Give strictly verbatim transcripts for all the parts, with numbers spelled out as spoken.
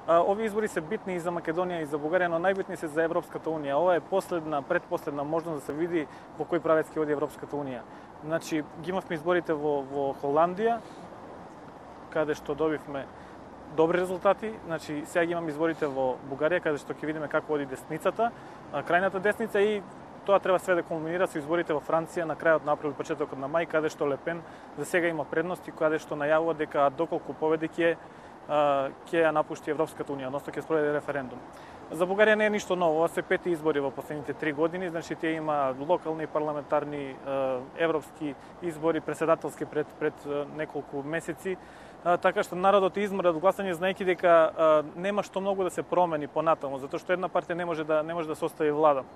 Овие избори се битни и за Македонија и за Бугарија, но најбитни се за Европската унија. Ова е последна, предпоследна можност да се види во кој правец ќе оди Европската унија. Значи, ги имавме изборите во, во Холандија, каде што добивме добри резултати. Значи, сега ги имаме изборите во Бугарија, каде што ќе видиме како оди десницата, крајната десница, и тоа треба све да кулминира со изборите во Франција на крајот на април и почетокот на мај, каде што Ле Пен за сега има предност и каде што најавува дека доколку победи ќе ќе ја напушти Европската унија, односно ќе спроведе референдум. За Бугарија не е ништо ново, ова се пети избори во последните три години, значи тие има локални, парламентарни, европски избори, претседателски пред пред неколку месеци, така што народот е измора од гласање, знаејќи дека нема што многу да се промени понатаму, затоа што една партија не може да не може да состави влада.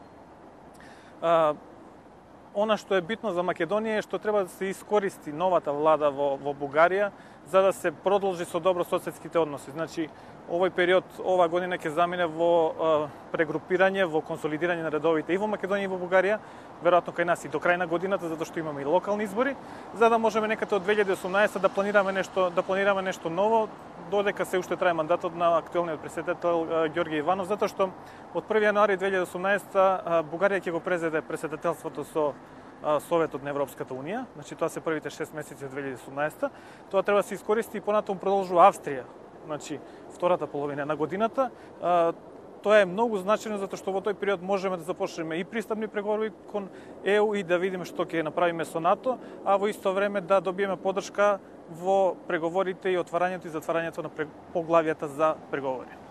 Она што е битно за Македонија е што треба да се искористи новата влада во, во Бугарија за да се продолжи со добрососедските односи. Значи, овој период, ова година ќе замине во е, прегрупирање, во консолидирање на редовите и во Македонија и во Бугарија, веројатно кај нас и до крај на годината, затоа што имаме и локални избори, за да можеме некаде од две илјади и осумнаесета да планираме нешто, да планираме нешто ново, додека се уште трае мандатот на актуелниот претседател Ѓорѓе Иванов, затоа што од први јануари две илјади и осумнаесета Бугарија ќе го презеде претседателството со Советот на Европската унија, значи тоа се првите шест месеци од две илјади и осумнаесета. Тоа треба да се искористи и понатаму продолжува Австрија, значи втората половина на годината. Тоа е многу значајно затоа што во тој период можеме да започнеме и пристапни преговори кон Е У и да видиме што ќе направиме со НАТО, а во исто време да добиеме поддршка во преговорите и отварањето и затварањето на поглавјата за преговори.